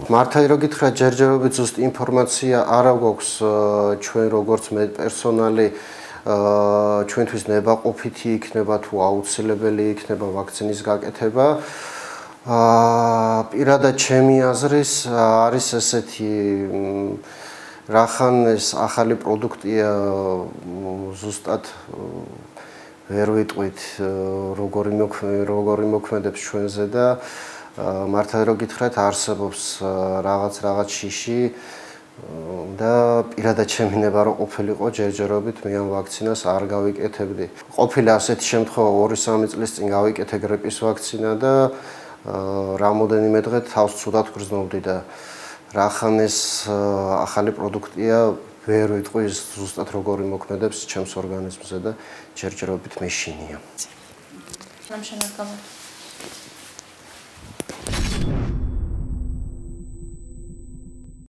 მართალი რო გითხრათ, ჯერჯერობით ზუსტ ინფორმაცია არა გვაქვს ჩვენ როგორც პერსონალი ჩვენთვის ნებაყოფითი იქნება თუ აუცილებელი იქნება ვაქცინის გაკეთება. პირადად ჩემი აზრის არის ესეთი რახან ეს ახალი პროდუქტია ზუსტად ვერ ვიტყვით როგორი მოქმედებს ჩვენზე და მართალი რო გითხრათ არსებობს რაღაც შიში და პირადად შემინება რომ ყოფილიყო ჯერჯერობით მე ამ ვაქცინას არ გავიკეთებდი. ყოფილა ასეთი შემთხვევა 2-3 წლის წინ გავიკეთე გრიპის ვაქცინა და რამოდენიმე დღე თავს ცუდად გრძნობდი და რახან ეს ახალი პროდუქტია ვერ ვიტყვი ზუსტად როგორი მოქმედებს ჩემს ორგანიზმზე და ჯერჯერობით მეშინია. სამშენებლო